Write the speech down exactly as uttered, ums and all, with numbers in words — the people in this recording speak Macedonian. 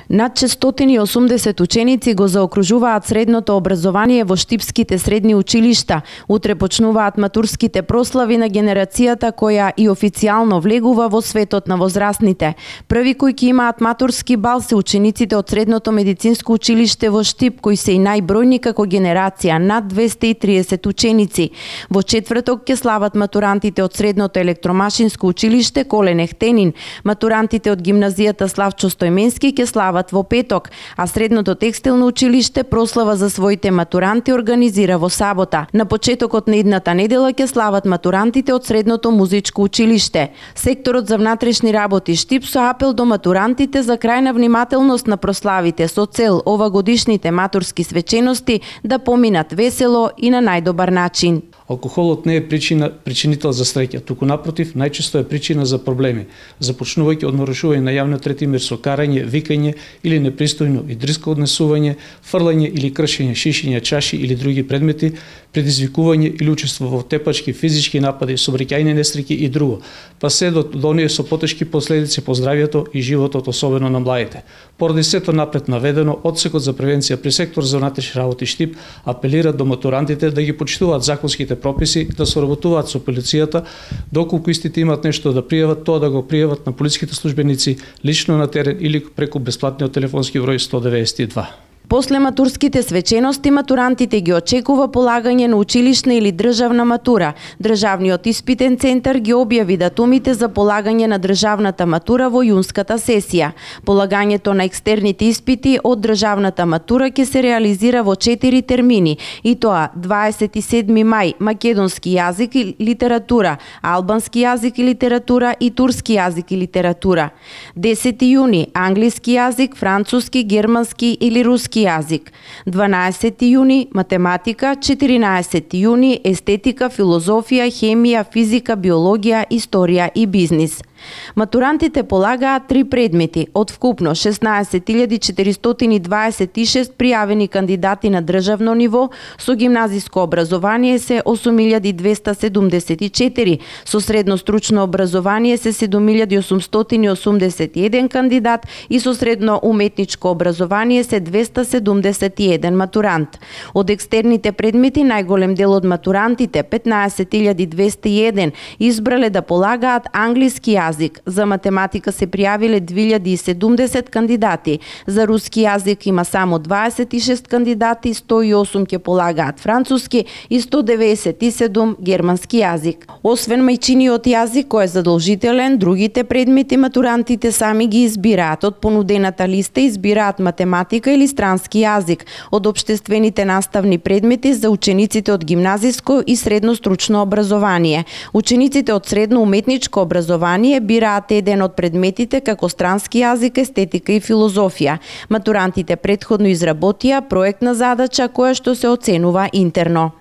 Над четиристотини и осумдесет ученици го заокружуваат средното образование во штипските средни училишта. Утре почнуваат матурските прослави на генерацијата која и официјално влегува во светот на возрастните. Први кои ќе имаат матурски бал се учениците од Средното медицинско училиште во Штип, кои се и најбројни како генерација, над двесте и триесет ученици. Во четврток ќе слават матурантите од Средното електромашинско училиште Колен Ехтенин. Матурантите од гимназијата Славчо Стојменски ќе слават во петок, а Средното текстилно училиште прослава за своите матуранти организира во сабота. На почетокот на идната недела ќе слават матурантите од Средното музичко училиште. Секторот за внатрешни работи Штип со апел до матурантите за крајна внимателност на прославите со цел овагодишните матурски свечености да поминат весело и на најдобар начин. Алкохолот не е причина, причинител за среќа, туку напротив, најчесто е причина за проблеми, започнувајќи од нарушување на јавниот ред и мир со карање, викање или непристојно и дрско однесување, фрлање или кршење шишиња, чаши или други предмети, предизвикување или учество во тепачки, физички напади, сообраќајни несреќи и друго, па се до, до оние со потешки последици по здравјето и животот, особено на младите. Поради сето напред наведено, Одсекот за превенција при сектор за внатрешни работи Штип апелира до матурантите да ги почитуваат законските прописи, да соработуваат со полицијата, доколку истите имаат нешто да пријават, тоа да го пријават на полиските службеници лично на терен или преку бесплатниот телефонски број сто деветдесет и два. После матурските свечености, матурантите ги очекува полагање на училишна или државна матура. Државниот испитен центар ги објави датумите за полагање на државната матура во јунската сесија. Полагањето на екстерните испити од државната матура ќе се реализира во четири термини, и тоа дваесет и седми мај македонски јазик и литература, албански јазик и литература и турски јазик и литература. десети јуни англиски јазик, француски, германски или руски јазик. дванаесети јуни математика, четиринаесети јуни естетика, филозофија, хемија, физика, биологија, историја и бизнис. Матурантите полагаат три предмети од вкупно шеснаесет илјади четиристотини дваесет и шест пријавени кандидати на државно ниво, со гимназиско образование се осум илјади двеста седумдесет и четири, со средно стручно образование се седум илјади осумстотини осумдесет и еден кандидат и со средно уметничко образование се двеста седумдесет и еден матурант. Од екстерните предмети најголем дел од матурантите, петнаесет илјади двеста и еден, избрале да полагаат англиски јазик. За математика се пријавиле две илјади и седумдесет кандидати. За руски јазик има само дваесет и шест кандидати, сто и осум ќе полагаат француски и сто деветдесет и седум германски јазик. Освен мајчиниот јазик кој е задолжителен, другите предмети матурантите сами ги избираат. Од понудената листа избираат математика или странски јазик. Од општествените наставни предмети за учениците од гимназиско и средно стручно образование. Учениците од средно уметничко образование бираат еден од предметите како странски јазик, естетика и филозофија. Матурантите претходно изработија проектна задача која што се оценува интерно.